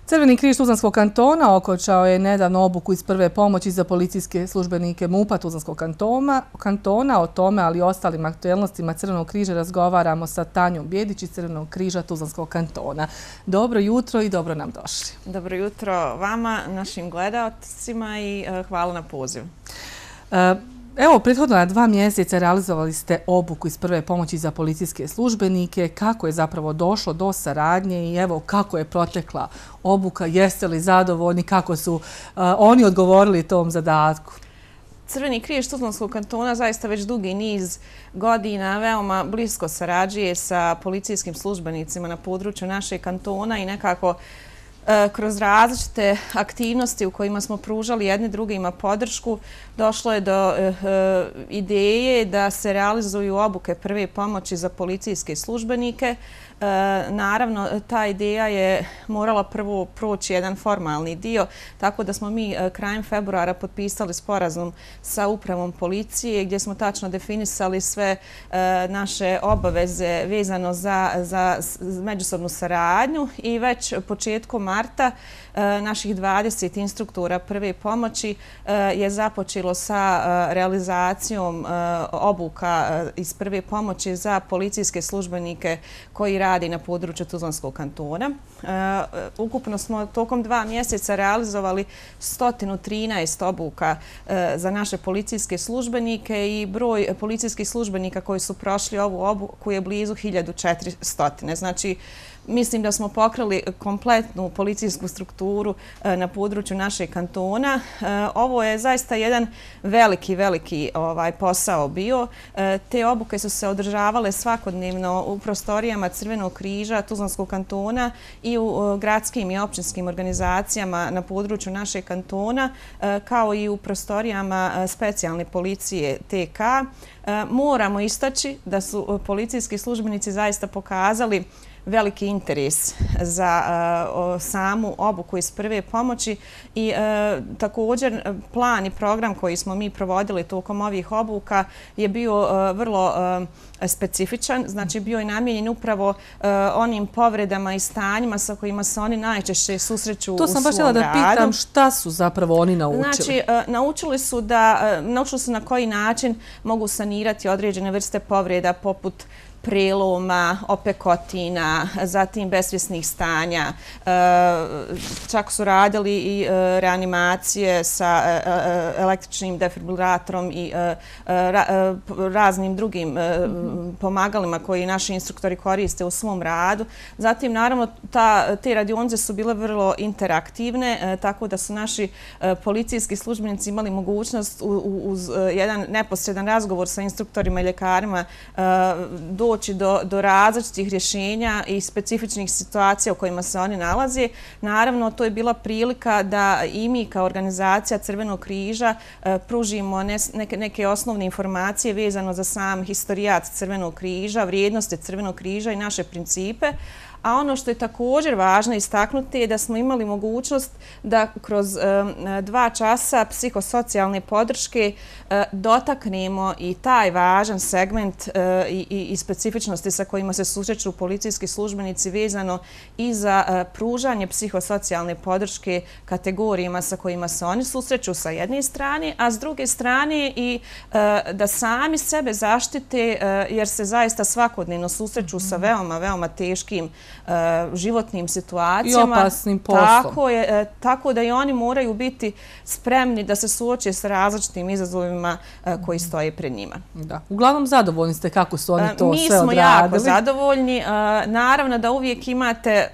Crveni križ Tuzlanskog kantona okončao je nedavno obuku iz prve pomoći za policijske službenike MUP-a Tuzlanskog kantona. O tome, ali i ostalim aktuelnostima Crvenog križa razgovaramo sa Tanjom Bjedić iz Crvenog križa Tuzlanskog kantona. Dobro jutro i dobro nam došli. Dobro jutro vama, našim gledaocima i hvala na pozivu. Evo, prethodno 2 mjeseca realizovali ste obuku iz prve pomoći za policijske službenike. Kako je zapravo došlo do saradnje i evo kako je protekla obuka? Jeste li zadovoljni? Kako su oni odgovorili tom zadatku? Crveni križ Tuzlanskog kantona zaista već dugi niz godina veoma blisko sarađuje sa policijskim službenicima na području našeg kantona i nekako kroz različite aktivnosti u kojima smo pružali jedni drugima podršku, došlo je do ideje da se realizuju obuke prve pomoći za policijske službenike. Naravno, ta ideja je morala prvo proći jedan formalni dio, tako da smo mi krajem februara potpisali sporazum sa upravom policije gdje smo tačno definisali sve naše obaveze vezano za međusobnu saradnju i već početkom marta naših 20 instruktora prve pomoći je započelo sa realizacijom obuka iz prve pomoći za policijske službenike koji radi na području Tuzlanskog kantona. Ukupno smo tokom 2 mjeseca realizovali 113 obuka za naše policijske službenike i broj policijskih službenika koji su prošli ovu obuku je blizu 1400. Znači, mislim da smo pokrili kompletnu policijsku strukturu na području našeg kantona. Ovo je zaista jedan veliki posao bio. Te obuke su se održavale svakodnevno u prostorijama Crvenog križa Tuzlanskog kantona i u gradskim i općinskim organizacijama na području našeg kantona, kao i u prostorijama specijalne policije TK. Moramo istaći da su policijski službenici zaista pokazali veliki interes za samu obuku iz prve pomoći i također plan i program koji smo mi provodili tokom ovih obuka je bio vrlo specifičan, znači bio je namijenjen upravo onim povredama i stanjima sa kojima se oni najčešće susreću u svom radu. To sam baš htjela da pitam šta su zapravo oni naučili. Znači, naučili su na koji način mogu sanirati određene vrste povreda poput preloma, opekotina, zatim besvjesnih stanja. Čak su radili i reanimacije sa električnim defibrilatorom i raznim drugim pomagalima koji naši instruktori koriste u svom radu. Zatim, naravno, te radionice su bile vrlo interaktivne, tako da su naši policijski službenici imali mogućnost uz jedan neposredan razgovor sa instruktorima i ljekarima doći do različitih rješenja i specifičnih situacija u kojima se oni nalaze. Naravno, to je bila prilika da i mi kao organizacija Crvenog križa pružimo neke osnovne informacije vezano za sam historijat Crvenog križa, vrijednosti Crvenog križa i naše principe. A ono što je također važno istaknuti je da smo imali mogućnost da kroz 2 časa psihosocijalne podrške dotaknemo i taj važan segment i specifičnosti sa kojima se susreću policijski službenici vezano i za pružanje psihosocijalne podrške kategorijama sa kojima se oni susreću sa jedne strane, a s druge strane i da sami sebe zaštite jer se zaista svakodnevno susreću sa veoma teškim životnim situacijama. I opasnim poslom. Tako da i oni moraju biti spremni da se suoče sa različitim izazovima koji stoje pred njima. Da. Uglavnom zadovoljni ste kako su oni to sve odradili? Mi smo jako zadovoljni. Naravno da uvijek imate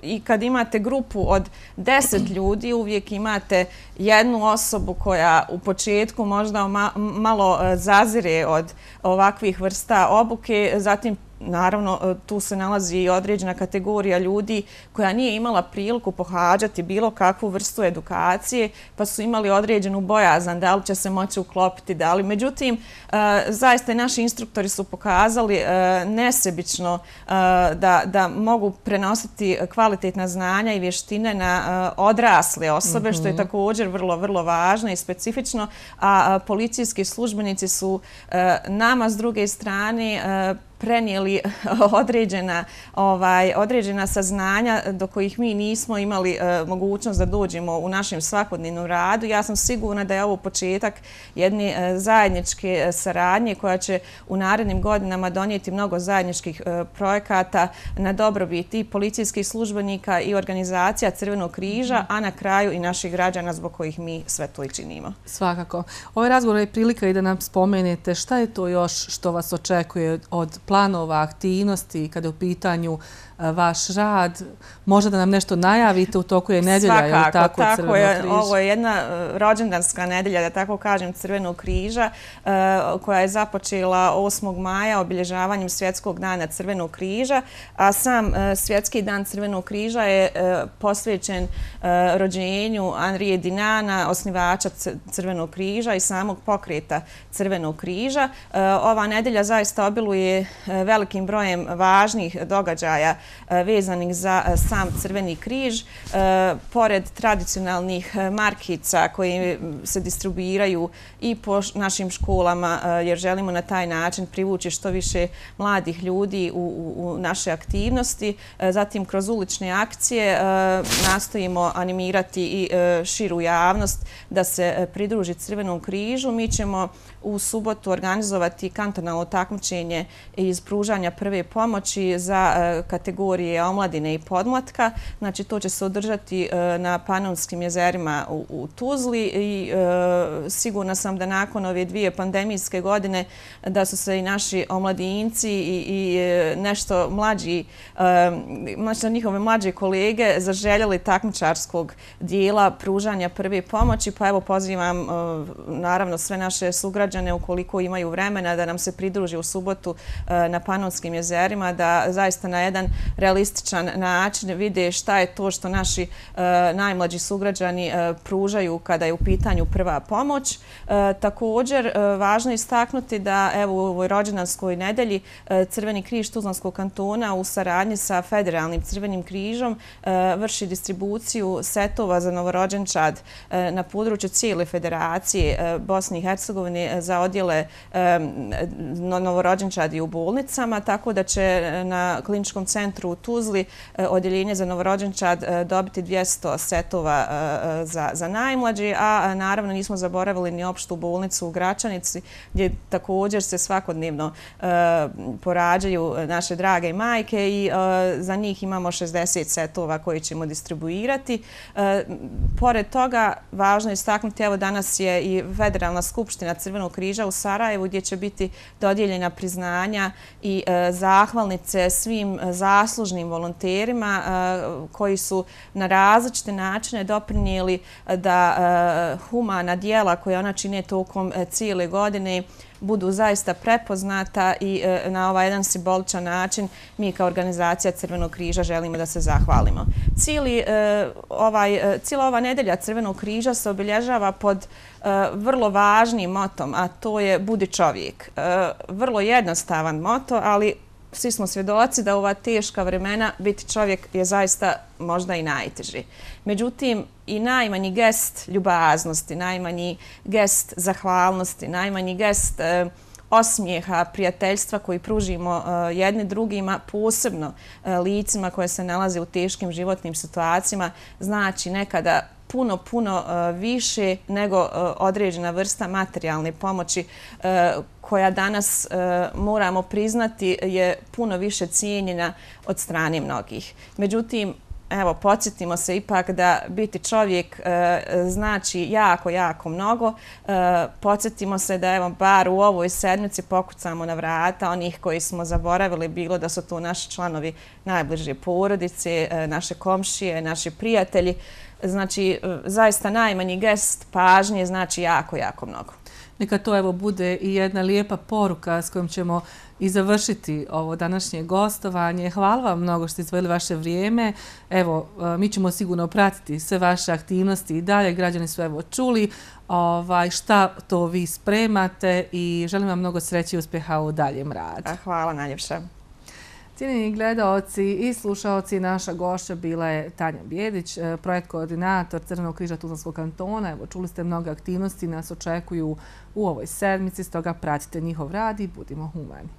i kad imate grupu od 10 ljudi, uvijek imate jednu osobu koja u početku možda malo zazire od ovakvih vrsta obuke, zatim naravno, tu se nalazi i određena kategorija ljudi koja nije imala priliku pohađati bilo kakvu vrstu edukacije, pa su imali određenu bojazan da li će se moći uklopiti, da li. Međutim, zaista naši instruktori su pokazali nesebično da mogu prenositi kvalitetna znanja i vještine na odrasle osobe, što je također vrlo važno i specifično, a policijski službenici su nama s druge strane prenijeli određena saznanja do kojih mi nismo imali mogućnost da dođemo u našem svakodnevnom radu. Ja sam sigurna da je ovo početak jedne zajedničke saradnje koja će u narednim godinama donijeti mnogo zajedničkih projekata na dobrobit i policijskih službenika i organizacija Crvenog križa, a na kraju i naših građana zbog kojih mi sve to i činimo. Svakako. Ovaj razgovor je prilika i da nam spomenete šta je to još što vas očekuje od planova, aktivnosti, kada je u pitanju vaš rad. Možda da nam nešto najavite u toku je nedelja. Svakako, tako je. Ovo je jedna rođendanska nedelja, da tako kažem, Crvenog križa, koja je započela 8. maja obilježavanjem Svjetskog dana Crvenog križa, a sam Svjetski dan Crvenog križa je posvećen rođenju Henrija Dunana, osnivača Crvenog križa i samog pokreta Crvenog križa. Ova nedelja zaista obiluje velikim brojem važnih događaja vezanih za sam Crveni križ. Pored tradicionalnih markica koje se distribuiraju i po našim školama, jer želimo na taj način privući što više mladih ljudi u naše aktivnosti. Zatim, kroz ulične akcije nastojimo animirati i širu javnost da se pridruži Crvenom križu. Mi ćemo u subotu organizovati kantonalno takmičenje iz pružanja prve pomoći za kategorije omladine i podmlatka. Znači, to će se održati na Panonskim jezerima u Tuzli i sigurna sam da nakon ove 2 pandemijske godine da su se i naši omladinci i nešto mlađi, njihove mlađe kolege zaželjeli takmičarskog dijela pružanja prve pomoći, pa evo pozivam naravno sve naše sugrađane ukoliko imaju vremena da nam se pridruži u subotu na Panonskim jezerima, da zaista na jedan realističan način vide šta je to što naši najmlađi sugrađani pružaju kada je u pitanju prva pomoć. Također, važno je istaknuti da evo u ovoj rođendanskoj nedelji Crveni križ Tuzlanskog kantona u saradnji sa Federalnim Crvenim križom vrši distribuciju setova za novorođenčad na području cijele Federacije Bosne i Hercegovine za odjele novorođenčadi u bolnicama, tako da će na kliničkom centru u Tuzli odjeljenje za novorođenčad dobiti 200 setova za najmlađe, a naravno nismo zaboravili ni opštu bolnicu u Gračanici gdje također se svakodnevno porađaju naše drage majke i za njih imamo 60 setova koje ćemo distribuirati. Pored toga, važno je istaknuti, evo danas je i Federalna skupština Crvenog križa u Sarajevu gdje će biti dodijeljena priznanja i zahvalnice svim zaslužnim volonterima koji su na različite načine doprinijeli da humana djela koja ona čine tokom cijele godine budu zaista prepoznata i na ovaj jedan simboličan način mi kao organizacija Crvenog križa želimo da se zahvalimo. Cijela ova nedelja Crvenog križa se obilježava pod vrlo važnim motom, a to je budi čovjek. Vrlo jednostavan moto, ali svi smo svjedoci da u ova teška vremena biti čovjek je zaista možda i najteži. Međutim, i najmanji gest ljubaznosti, najmanji gest zahvalnosti, najmanji gest osmijeha, prijateljstva koji pružimo jedni drugima, posebno licima koje se nalaze u teškim životnim situacijama, znači nekada puno više nego određena vrsta materijalne pomoći koja danas, moramo priznati, je puno više cijenjena od strane mnogih. Međutim, evo, podsjetimo se ipak da biti čovjek znači jako mnogo. Podsjetimo se da, evo, bar u ovoj sedmici pokucamo na vrata onih koji smo zaboravili, bilo da su to naši članovi najbliže porodice, naše komšije, naši prijatelji. Znači, zaista najmanji gest pažnje znači jako mnogo. Neka to evo bude i jedna lijepa poruka s kojom ćemo i završiti ovo današnje gostovanje. Hvala vam mnogo što ste izdvojili vaše vrijeme. Evo, mi ćemo sigurno pratiti sve vaše aktivnosti i dalje. Građani su evo čuli šta to vi spremate i želim vam mnogo sreće i uspjeha u daljem radu. Hvala najljepša. Cijenjeni gledaoci i slušaoci, naša gošća bila je Tanja Bjedić, projekt koordinator Crvenog križa Tuzlanskog kantona. Evo, čuli ste mnogo aktivnosti, nas očekuju u ovoj sedmici, stoga pratite njihov rad i budimo humani.